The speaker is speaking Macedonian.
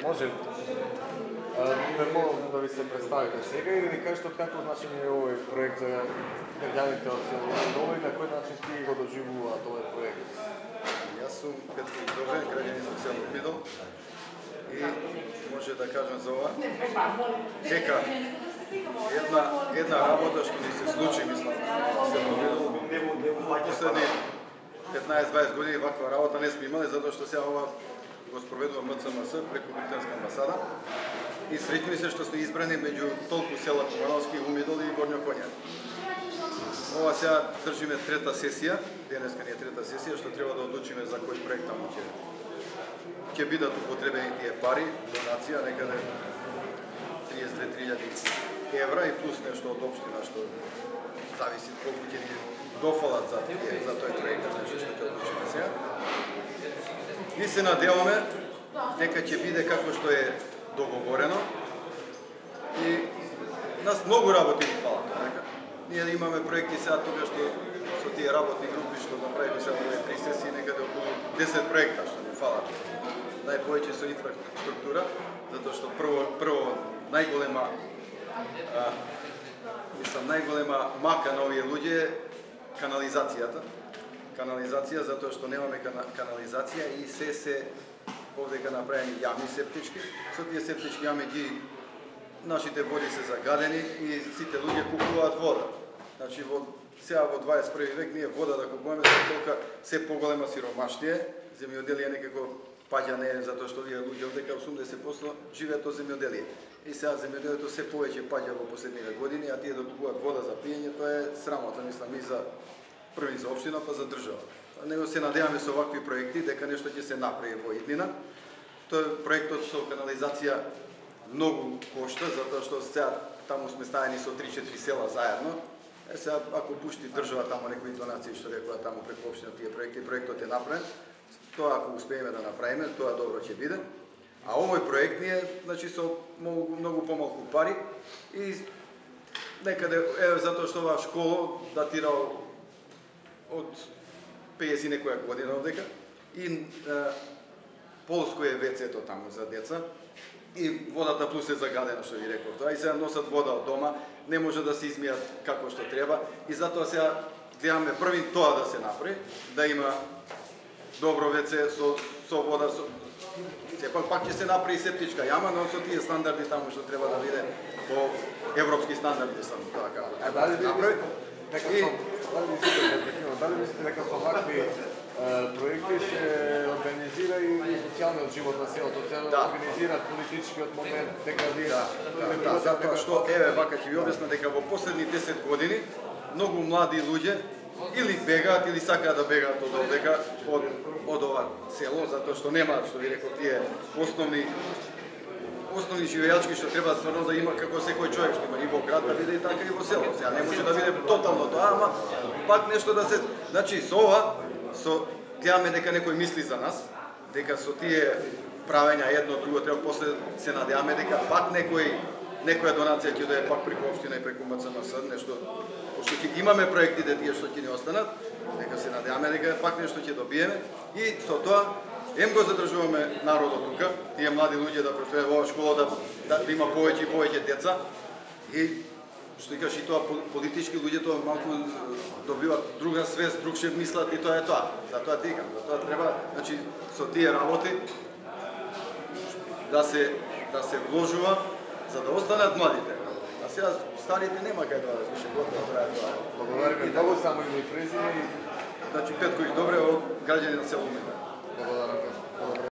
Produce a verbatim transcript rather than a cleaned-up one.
Може ме молам да ви се представите сега и да ни кажете од какво начин е овој проект за граѓаните од село Умидол и на кој начин ти го доживуваат овој проект? Јас сум Петко Добрен, граѓанин од село Умидол и може да кажам за ова дека една една работа што ни се случи, мислам, во село Умидол последни петнаесет-дваесет години ваква работа не сме имали, затоа што сега ова го спроведува М Ц М С преку британска амбасада и среќни се што сме избрани меѓу толку села Кумановски, Умидол и Горњо Коњар. Ова сега држиме трета сесија, денеска ни е трета сесија, што треба да одлучиме за кој проект таму ќе ќе бидат употребени тие пари, донација некаде триесет и две илјади евра и плюс нешто од општина што зависи колку ќе ни дофалат за тие, за тој проект, значи што ќе одлучиме сега. И се надеваме дека ќе биде како што е договорено и нас многу работи ни фалат, така? Ние имаме проекти сега тука што со тие работни групи што направиме сега во три сесии некаде околу десет проекта што ни фалат. Најповеќе со инфраструктура, затоа што прво прво најголема а, мислам најголема мака на овие луѓе е канализацијата. Канализација затоа што немаме канализација и се се овдека направени јами септички. Со тие септички јами ги нашите води се загадени и сите луѓе купуваат вода. Значи во сега во дваесет и први век ние вода да купуваме се толка се поголема сиромаштие, земјоделие некако паѓа не затоа што овие луѓе овдека осумдесет проценти живеат од земјоделие. И сега земјоделието се повеќе паѓа во последниве години, а тие да купуваат вода за пиење, тоа е срамота, мислам, и за први за општина, па за држава. Него се надеваме со вакви проекти дека нешто ќе се направи во иднина. Тој проектот со канализација многу кошта, затоа што сега таму сме ставени со три-четири села заедно. Е сега ако пушти држава таму некои донации што рекоа таму преку општина тие проекти, проектот е направен. Тоа ако успееме да направиме, тоа добро ќе биде. А овој проект ни е, значи, со многу, многу помалку пари и некаде е затоа што оваа школа датира од пеесет некоја година овдека и е, полско е вецето таму за деца и водата плюс е загадена, што ви реков тоа, и сега носат вода од дома, не може да се измијат како што треба и затоа сега гледаме први тоа да се направи, да има добро веце со, со вода, со... сепак пак ќе се направи септичка јама, но со тие стандарди таму што треба да биде по европски стандарди сам така. А дали ви Дали мислите дека со вакви проекти се организира и социјалниот живот на селото, се организира политичкиот момент, дека вие... Да, да, затоа што, еве, вака ќе ви објасна дека во последни десет години многу млади луѓе или бегаат или сакаат да бегаат од овдека, од, од ова село, затоа што немаат, што ви реков, тие основни основни живејачки што треба стварно да има како секој човек што има и во град да биде и така и во село. Сега не може да биде тотално тоа, ама пак нешто да се, значи со ова со гледаме дека некој мисли за нас, дека со тие правења едно друго треба после се надеваме дека пак некој некоја донација ќе дојде пак преку општина и преку М Ц М С, нешто пошто ќе имаме проектите тие што ќе ни останат, дека се надеваме дека пак нешто ќе добиеме и со тоа ем го задржуваме народот тука, тие млади луѓе да престојат во школа, да, да, да има повеќе и повеќе деца и што кажеш и тоа политички луѓе тоа малку добиваат друга свест, друг шеф мислат и тоа е тоа. Затоа ти кажам, затоа треба, значи со тие работи да се да се вложува за да останат младите. А сега старите нема кај да више готово тоа е тоа. Благодариме многу, само име и презиме и значи Петко Добре од граѓани на село Умидол. Благодарам.